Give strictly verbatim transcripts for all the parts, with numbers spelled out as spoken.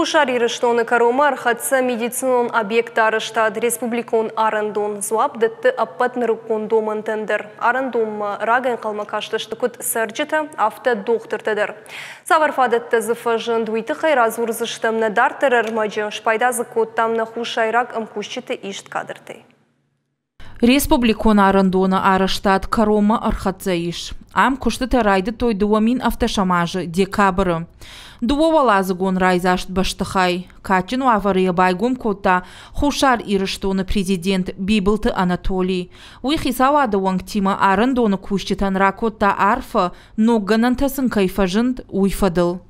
Хуссар Ирыстоны кӕронмӕ ӕрхӕццӕ медицинон объекты арӕзтад. Республикон арӕндон дзуапп дӕтты ӕппӕт нырыккон домӕнтӕн дӕр. Арӕндонмӕ рагӕй ӕнхъӕлмӕ кастысты куыд цӕрджытӕ, афтӕ дохтыртӕ дӕр. Цавӕр фадӕттӕ дзы фӕзынд, уый тыххӕй радзурдзыстӕм нӕ дарддӕры ӕрмӕджы. Спайда дзы кодтам нӕ хуссайраг ӕмкусджыты ист кадртӕй. Республикон арӕндоны арӕзтад кӕронмӕ ӕрхӕццӕ ис. Ам куыстытӕ райдыдтой дыууӕ мин ӕвддӕсӕм азы декабры. Дыууӕуӕладзыгон райдзаст бӕстыхай кадджын уавӕры йӕ байгом кодта Хуссар Ирыстоны президент Бибылты Анатолий. Уый хицауады уӕнгтимӕ арӕндоны кусджытӕн ракодта арфӕ, ног гӕнӕнтӕ сын кӕй фӕзынд, уый фӕдыл.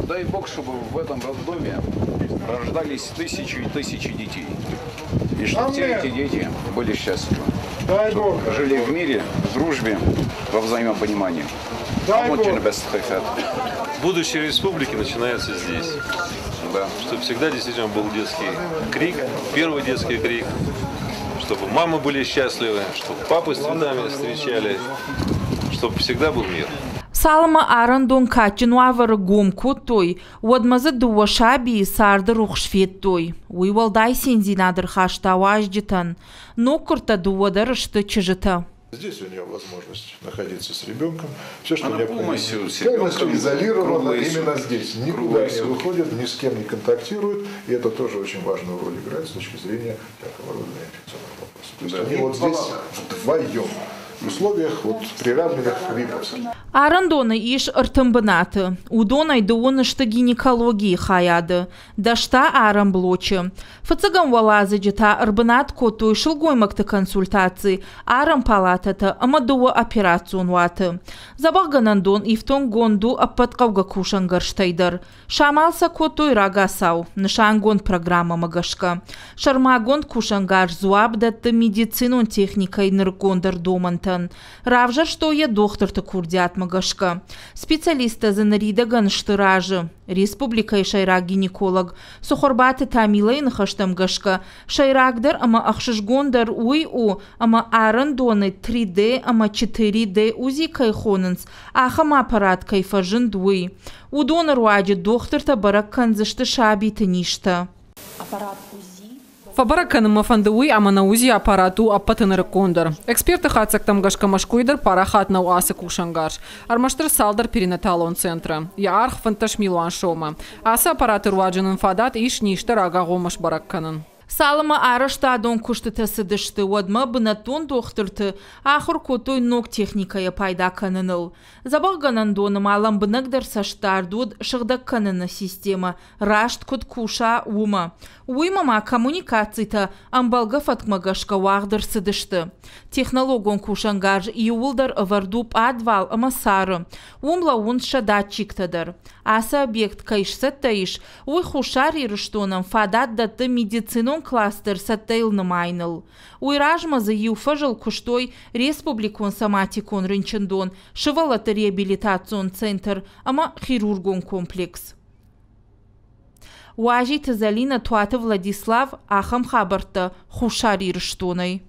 Дай Бог, чтобы в этом роддоме рождались тысячи и тысячи детей. И чтобы все эти дети были счастливы. Дай Бог. Жили в мире, в дружбе, во взаимопонимании. Дай Бог. Будущее республики начинается здесь. Да. Чтобы всегда действительно был детский крик, первый детский крик, чтобы мамы были счастливы, чтобы папы с цветами встречали, чтобы всегда был мир. Цалынмӕ арӕндон кадджын уавӕры гом кодтой, уӕдмӕ дзы дыууӕ сабийы царды рухс федтой. Уый уӕлдай циндзинад ӕрхаста уазджытӕн. Ноггуырдтӕ дыууӕ дӕр сты чызджытӕ. Здесь у нее возможность находиться с ребенком. Все, что Она необходимо. полностью с ребенком, Полностью изолирована круглые именно сутки. здесь. Никуда Круглые не сутки. выходит, ни с кем не контактирует. И это тоже очень важную роль играет с точки зрения всякого рода инфекционных вопросов. То есть Да. они вот здесь вдвоем. В условиях вот, приравненных к виповским. Арӕндоны ис ӕртын бынаты. Уыдонӕй дыууын сты гинекологийы хайады, дӕс та арӕн блочы. Фыццӕгӕм уӕладзыджы та ӕрбынат кодтой сылгоймӕгты консультаци, арӕн палатӕтӕ ӕмӕ дыууӕ операцион уаты. Дзӕбӕхгӕнӕндон ифтонггонд у ӕппӕт хъӕугӕ кусӕнгӕрзтӕй дӕр. Самал сӕ кодтой рагацау, нысангонд программӕмӕ гӕсгӕ. Сӕрмагонд кусӕнгарз дзуапп дӕтты медицинон техникӕйы нырыккондӕр домӕнтӕн. Равзӕрстой йӕ дохтырты курдиатмӕ гӕсгӕ. Специалисттӕ дзы ныридӕгӕн сты разы. Республикӕйы сӕйраг гинеколог Цыхуырбаты Тамилайы ныхӕстӕм гӕсгӕ сӕйрагдӕр ӕмӕ ӕхсызгондӕр уый у, ӕмӕ арӕндоны три D ӕмӕ четыре D УЗИ кӕй хонынц, ахӕм аппарат кӕй фӕзынд, уый. Уыдоны руаджы дохтыртӕ бӕрӕг кӕндзысты сабиты низтӕ. Фӕбӕрӕг кӕнын мӕ фӕнды уый, ӕмӕ нӕ УЗИ аппарат у ӕппӕты нырыккондӕр. Эксперты хатдзӕгтӕм гӕсгӕ Мӕскуыйы дӕр парахат нӕу ацы кусӕнгарз. Ӕрмӕстдӕр цалдӕр перинаталон центры. Йӕ аргъ фынддӕс милуан сомы. Ацы аппараты руаджы нын фадат ис низтӕ рагагъоммӕ сбӕрӕг кӕнын. Цалынмӕ арӕзтадон куыстытӕ цыдысты, уӕдмӕ бынӕттон дохтырты ахуыр кодтой ног техникӕйӕ пайда кӕныныл. Дзӕбӕхгӕнӕндоны ма лӕмбынӕгдӕр цӕстдард уыд сыгъдӕг кӕныны системӕ раст куыд куса, уымӕ. Уыимӕ ма коммуникацитӕ ӕмбӕлгӕ фӕткмӕ гӕсгӕ уагъд ӕрцыдысты. Технологон кусӕнгарз иууылдӕр ӕвӕрд у пъадвал ӕмӕ цары. Уым лӕууынц сӕ датчиктӕ дӕр. Ацы объект кӕй сцӕттӕ ис, уый Хуссар Ирыстонӕн фадат дӕтты медицинон кластер цӕттӕйыл нымайыныл. Уый размӕ дзы иу фӕзыл куыстой республикон соматикон рынчындон, сывӕллӕтты реабилитацион центр ӕмӕ хирургон комплекс. Уазиты Залина, Туаты Владислав, ахӕм хабӕрттӕ Хуссар Ирыстонӕй.